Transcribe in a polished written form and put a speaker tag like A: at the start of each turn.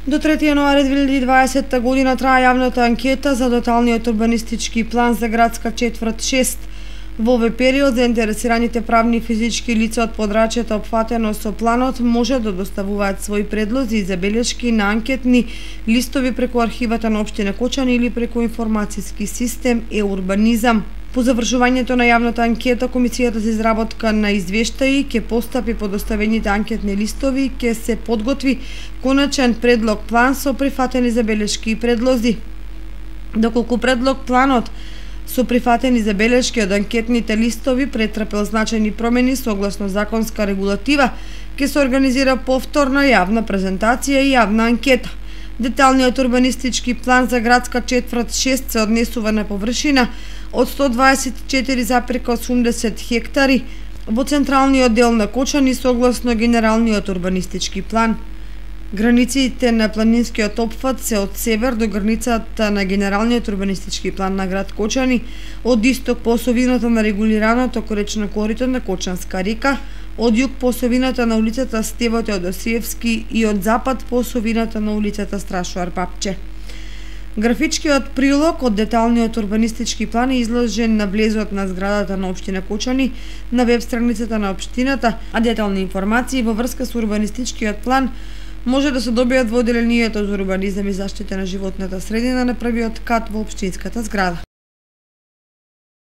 A: До 3 јануари 2020 година трае јавната анкета за деталниот урбанистички план за градска четврт 6. Во овој период заинтересираните правни и физички лица од подрачјето опфатено со планот може да доставуваат своји предлози и забелешки на анкетни листови преку архивата на општина Кочани или преку информацијски систем e-урбанизам. По завршувањето на јавната анкета, Комисијата за изработка на извештаи ќе постапи по доставените анкетни листови и ќе се подготви коначен предлог план со прифатени забелешки и предлози. Доколку предлог планот со прифатени забелешки од анкетните листови претрпел значајни промени согласно законска регулатива, ќе се организира повторна јавна презентација и јавна анкета. Деталниот урбанистички план за градска четврт 6 се однесува на површина од 124,80 хектари во централниот дел на Кочани согласно генералниот урбанистички план. Границите на планинскиот опфат се од север до границата на генералниот урбанистички план на град Кочани, од исток по осовината на регулираното коречно корито на Кочанска река, од југ по осовината на улицата Стево Теодосиевски и од запад по осовината на улицата Страшоар Папче. Графичкиот прилог од деталниот урбанистички план е изложен на влезот на зградата на општина Кочани на веб страницата на општината, а детални информации во врска со урбанистичкиот план може да се добијат во одделението за урбанизам и заштита на животната средина на првиот кат во општинската зграда.